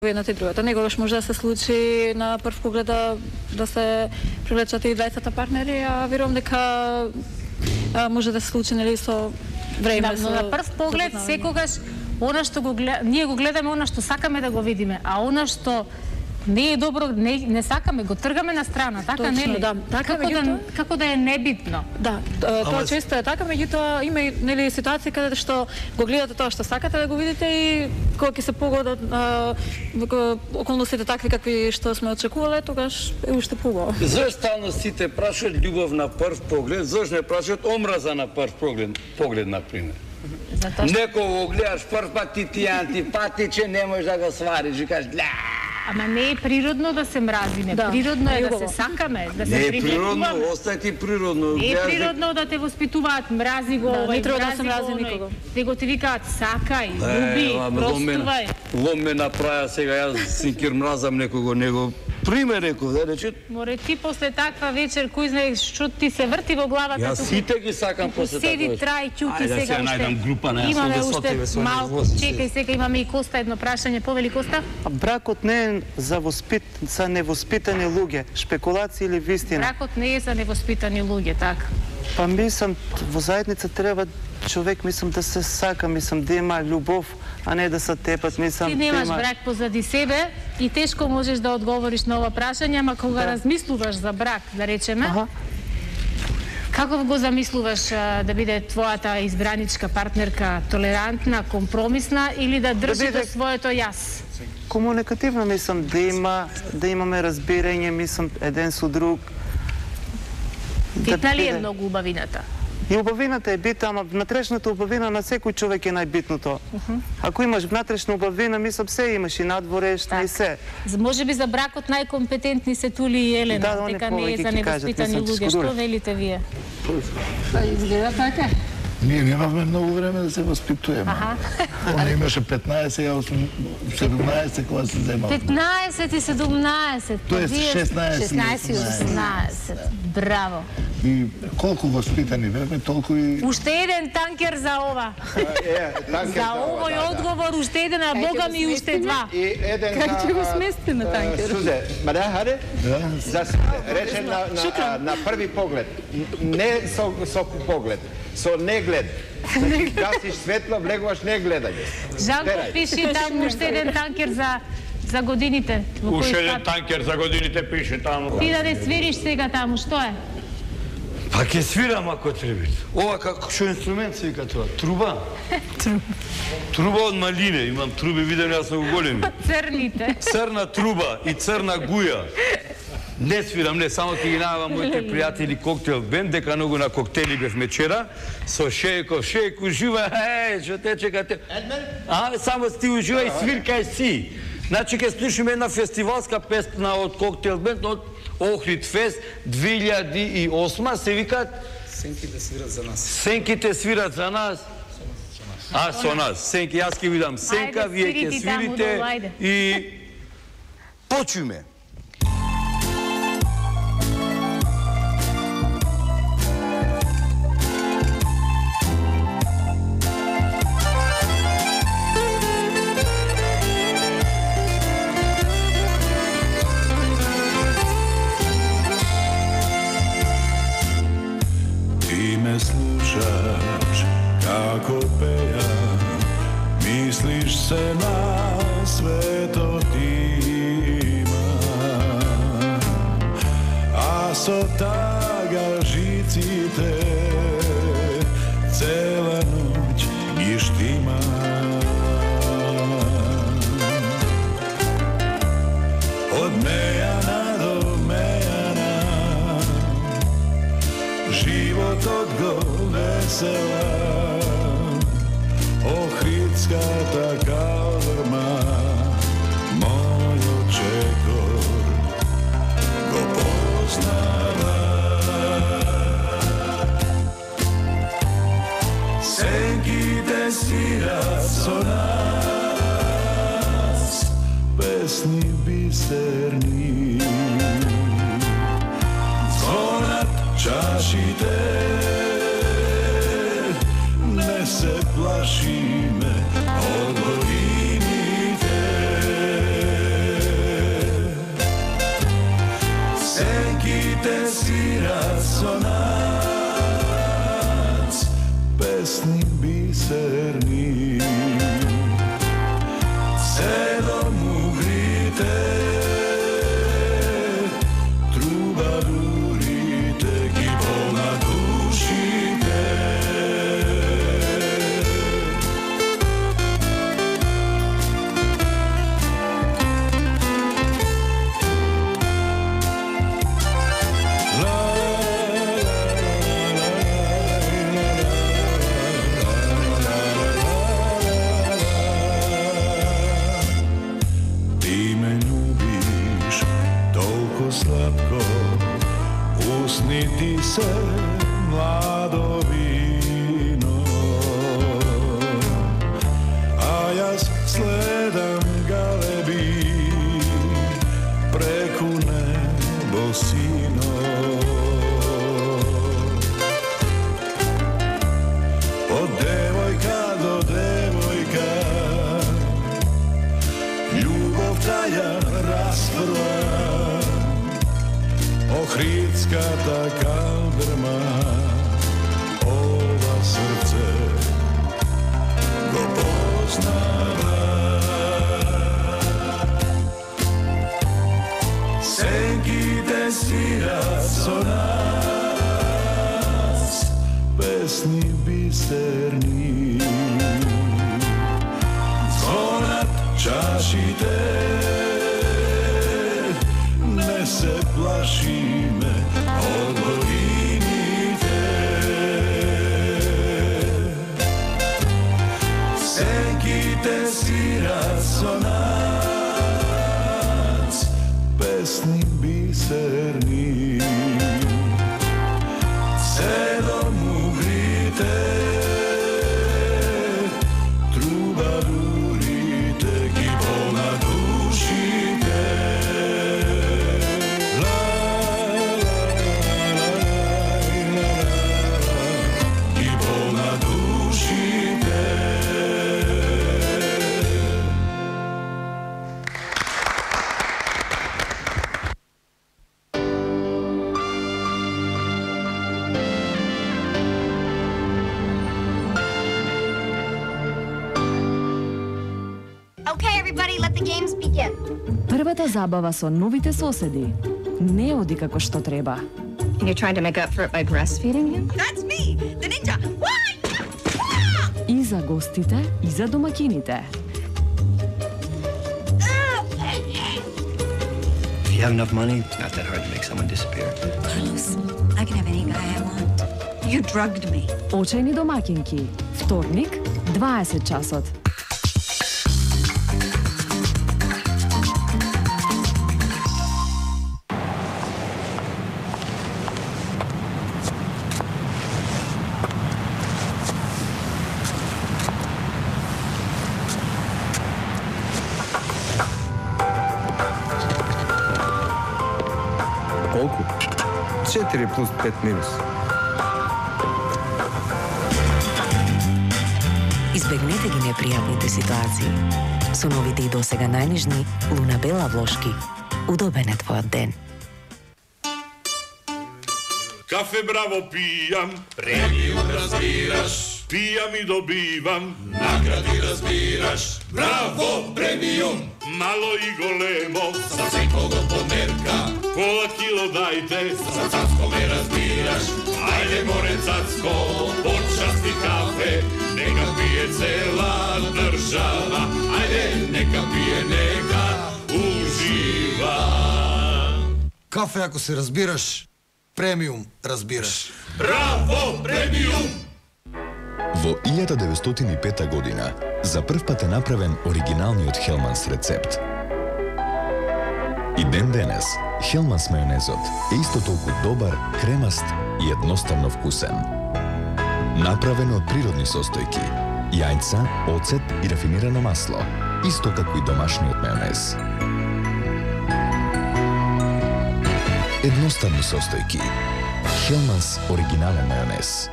едната и другата. Некогаш може да се случи на прв поглед да се привлечат и двајцата партнери, а верувам дека може да се случи нели со време. Но на прв поглед секогаш она што ние го гледаме она што сакаме да го видиме, а она што не е добро, не сакаме, го тргаме на страна, така точно, нели? Да. Така, како да е небитно. Да, тоа често е така, меѓутоа има и нели ситуации каде што го гледате тоа што сакате да го видите и кога ќе се погодат околностите такви какви што сме очекувале, тогаш е уште побаво. Зошто стално сите прашаат љубов на прв поглед, зошто не прашаат омраза на прв поглед на пример? Некој го гледаш прв пат ти антипатичен, не можеш да го свариш и кажеш Ама не е природно да се мразиме, природно е да се сакаме, да се приветуваме. Не е природно, остај ти природно. Не е природно да те воспитуваат, мрази го овој, не треба да се мрази никого. Него ти викаат сакај, люби, простувај. Ломе направи сега, јас синкир мразам некого, пример реков, да рече. Море ти после таква вечер, кој знае што ти се врти во главата. Јас сите ги сакам после таква. Седи, трај, ќуки сега уште. Најдам група на имаме уште малку, чекај сега, имаме и Коста едно прашање, повели Коста. Бракот не е за невоспитани луѓе, шпекулации или вистина. Бракот не е за невоспитани луѓе, така. Па мислам, во заедница треба човек, мислам, да се сака, мислам, да има љубов, а не да се тепат, мислам. Ти немаш брак позади себе и тешко можеш да одговориш на ова прашање, ама кога размислуваш за брак, да речеме, како го замислуваш да биде твојата избраничка партнерка толерантна, компромисна или да држи до своето јас? Комуникативно, мислам, да имаме разбирање, мислам, еден со друг. Битна ли е многу убавината? И убавината е битна, ама внатрешната убавина на секој човек е најбитното. Ако имаш внатрешна убавина, мислам, се имаш и надворешна и се. Може би за бракот најкомпетентни се Тули и Елена, дека не е за невоспитани луѓе. Што велите вие? Изгледа така. Ние немавме многу време да се воспитуваме. Он имаше 15, ја 17 кога се земал. 15 и 17. Тоест 16 и 18. Браво. И колку воспитани бевме, толку и... Уште еден танкер за ова. За овој одговор, уште еден, а Бога ми уште два. Как ќе го сместиме танкер? Сузе, мада хаде? За речен на први поглед. Не со поглед, со неглед. Значи, гасиш светло, влегуваш не гледање. Жанко пиши там уште еден танкер за годините. Уште еден танкер за годините пише таму. Ти да не свириш сега таму, што е? Па ќе свирам ако треба. Ова како што инструмент се вика тоа? Труба? Труба од малине, имам труби, видени, јас сум големи. Црните. Црна труба и црна гуја. Не свирам, не, само ќе ги најавам моите пријатели коктел бенд, дека многу на коктели бевме вчера, со Шејко, ужива, што те чекате. Само ти ужива и свиркај си. Значи, ќе слушаме една фестивалска песна од коктел бенд, од Охрид Фест 2008, се викаат Сенките свират за нас. Сенките свират за нас. Со нас. Сенки, јас ќе видам Сенка, вие ќе свирите и почуме. Slušaš kako pejam, misliš se na sve to tima, a so taga žicite cela noć gištima. Od mejana do mejana, život odgovor vesela, Ohridska ta kalvrma, moj očekor go poznava. Senkite svirat so nas, pesni biserni, zvonat čašite, ne se plaši me od godinite. svira sonac, pesnik biserni. Sedom ugrite, trubadurite, gibol na dušite. Usniti se mlado vino, a jaz sledam galebi preku nebo sino. Od devojka do devojka ljubov traja rasprva. Ohridska ta kaldrma, ova srce go poznava. Senki te svira sonac, pesni biserni. Zvonat čašite, ne se plašime, odgovinite. Senki te svira sonac, pesnik biserni. Sedom ugrite, trubadurite, gibol na dušite. Првата забава со новите соседи не оди како што треба. And you're trying to make up for it by breastfeeding him? That's me, the ninja. И за гостите, и за домакините. If you have enough money, it's not that hard to make someone disappear. Carlos, I can have any guy I want. You drugged me. Очајни домакинки. Вторник, 20 часот. Колку? 4 плюс 5 минус. Избегнете ги непријатните ситуации. Со новите и досега најнежни Луна Бела влошки. Удобен е твојот ден. Кафе браво пијам, премиум разбираш, пијам и добивам, награди разбираш. Браво премиум, мало и големо, за секого померка. Пола кило дајте, за цацко ме разбираш. Ајде море цацко, почасти кафе, нека пие цела држава. Ајде, нека пие, нека ужива. Кафе ако се разбираш, премиум разбираш. Браво премиум! Во 1905 година за прв пат е направен оригиналниот Хелманс рецепт. И ден денес Хелманс мајонезот е исто толку добар, кремаст и едноставно вкусен. Направен од природни состојки, јајца, оцет и рафинирано масло, исто како и домашниот мајонез. Едноставни состојки. Хелманс оригинален мајонез.